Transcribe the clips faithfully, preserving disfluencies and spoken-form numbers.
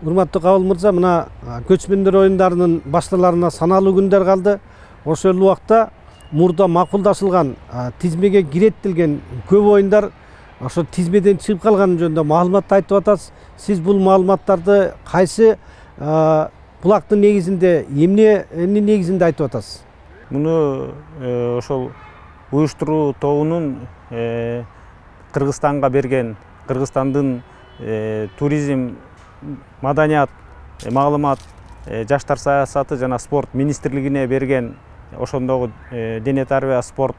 Урматтуу Кабыл мырза, мына көчмөндөр оюндарынын башталарына саналуу күндөр калды. Ошол убакта мурда макулдашылган тизмеге киреттилген көп оюндар ошо тизмеден чыгып калганы жөнүндө маалымат айтып атасыз. Сиз бул маалыматтарды кайсы булактын негизинде, эмненин негизинде айтып атасыз? Муну ошол уюштуруу тобунун Кыргызстанга берген, Кыргызстандын туризм, маданият, маалымат, жаштар саясаты жана спорт министрлигине берген, ошондогу дене тарбия спорт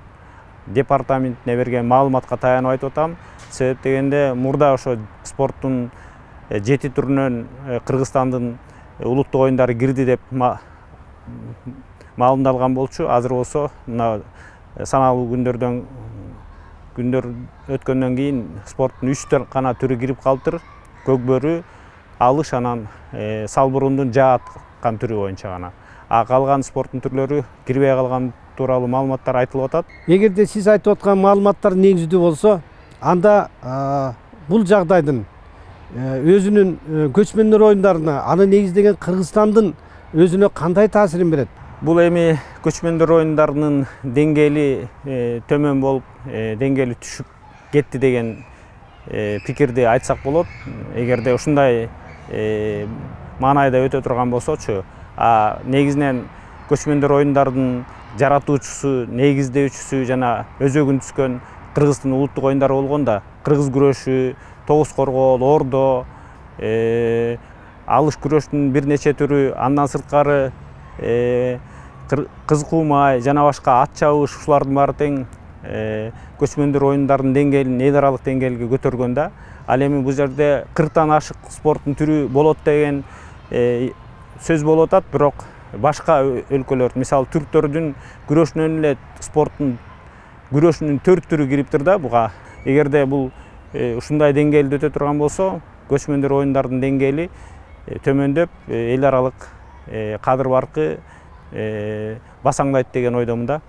департаментине берген маалыматка таянып айтып атам. Себеп дегенде мурда ошо спорттун жети түрүнөн Кыргызстандын улуттук оюндары кирди деп маалымдалган болчу. Азыр болсо мына саналуу күндөрдөн күндөр өткөндөн кийин спорттун үч гана түрү кирип калыптыр. Көкбөрү, алыш, анан салбурундун жааткан түрү боюнча гана. А калган спорттун түрлөрү кирбей калган тууралуу маалыматтар айтылып атат. Эгерде сиз айтып аткан маалыматтар негиздүү болсо, анда бул жагдайдын өзүнүн көчмөндөр оюндарына аны негиздеген Кыргызстандын өзүнө кандай таасирин берет? Бул эми көчмөндөр оюндарынын деңгээли төмөн болуп, деңгээли түшүп кетти деген пикирди айтсак болот. Эгерде ушундай маанайда өтө турган болсочу, а негизинен көчмөндөр оюндарынын жаратуучусу, негиздөөчүсү жана өзөгүн түскөн Кыргыздын улуттук оюндары болгонда кыргыз күрөшү, тогуз коргоол, ордо, алыш күрөшүнүн бир нече түрү, андан сырткары кыз куумай жана башка ат чабыш, ушулардын баары тең көчмөндөр оюндарынын деңгээлин эл аралык деңгээлге көтөргөн да. Ал эми бул жерде кырктан ашык спорттун түрү болот деген сөз болуп атат, бирок башка өлкөлөр, мисалы түрктөрдүн күрөшүнөн эле спорттун күрөшүнүн төрт түрү кириптир да буга. Эгерде бул ушундай деңгээлде өтө турган болсо, көчмөндөр оюндарынын деңгээли төмөндөп, эл аралык кадыр баркы басаңдайт деген ойдомун да.